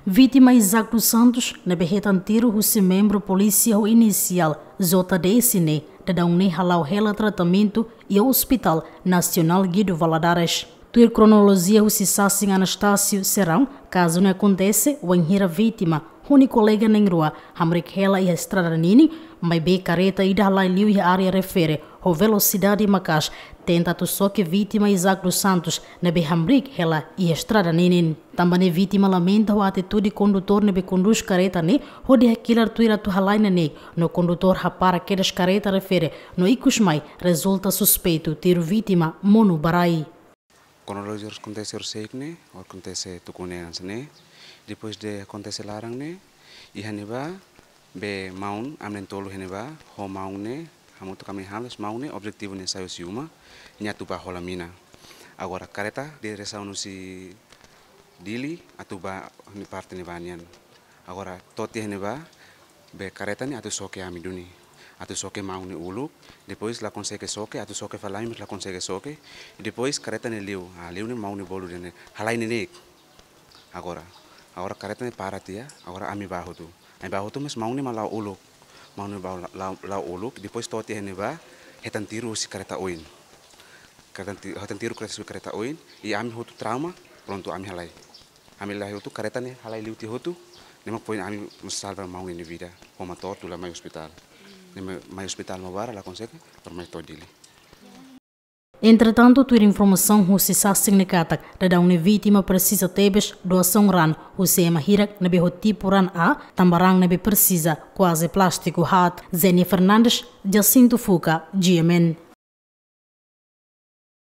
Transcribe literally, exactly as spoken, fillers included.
Vítima Isaac dos Santos ne'ebé hetan tiru husi membru polísia ho inisiál J D S ne'e, daudaun ne'e hala'o hela tratamentu iha Hospital Nasionál Guido Valadares. Tuir kronolojia husi sasin Anastácio Serrão, kazu ne'e akontese wainhira vítima ho nia kolega na'in-rua hamriik hela iha estrada ninin, maibé karreta ida halai liu iha área refere ho velosidade maka'as, tenta atu xoke vítima Isaac dos Santos ne'ebé hamriik hela iha estrada ninin. Tanba ne'e vítima lamenta ho atitude kondutór ne'ebé kondús karreta ne'e, hodi hakilar tuir atu halai neineik, no kondutór hapara kedas karreta refere, no ikus mai rezulta suspeitu tiru vítima monu ba rai. Kronolojia akontese horisehik ne'e, akontese tuku ne'e hanesan ne'e. Depois de akontese laran ne'e, iha ne'ebá, be maun, ami na'in-tolu iha ne'ebá, ho maun ne'e, hamutuk ami hamriik, maun ne'e, objetivu ne'e sai husi uma, nia atu bá hola mina. Agora, karreta, diresaun husi Dili, atu bá nia parte ne'ebá nian. Agora, to'o tiha iha ne'ebá, be karreta ne'e atu xoke ami duni. Atu xoke maun ne'e uluk, depois la konsege xoke, atu xoke fali ami la konsege xoke, depois karreta ne'e liu, ah, liu ne'e maun ne'e bolu dehan ne'e, halai neineik. Agora, agora karreta ne'e para tiha, agora ami bá hotu. Ami bá hotu mais maun ne'e mak la'o uluk. Maun ne'e bá la-, la'o, la'o uluk, depois to'o tiha iha ne'ebá, hetan tiru husi karreta oin. Karreta ti-, hetan tiru husi karreta oin, i ami hotu trauma, prontu ami halai. Ami halai hotu karreta ne'e halai liu tiha hotu, ne'e mak foin ami mós salva maun ne'e nia vida, ho motór tula mai ospitál. Ne'e mai, mai ospitál Maubara la konsege, to'o mai to'o Dili. Entretantu, tuir informasaun husi sasin ne'e katak, daudaun ne'e vítima presiza tebes doasaun raan husi ema hirak ne'ebé ho tipu raan A, tanba raan ne'ebé presiza kuaze plástiku haat. Zenia Fernandes, Jacinto Fuca, G M N.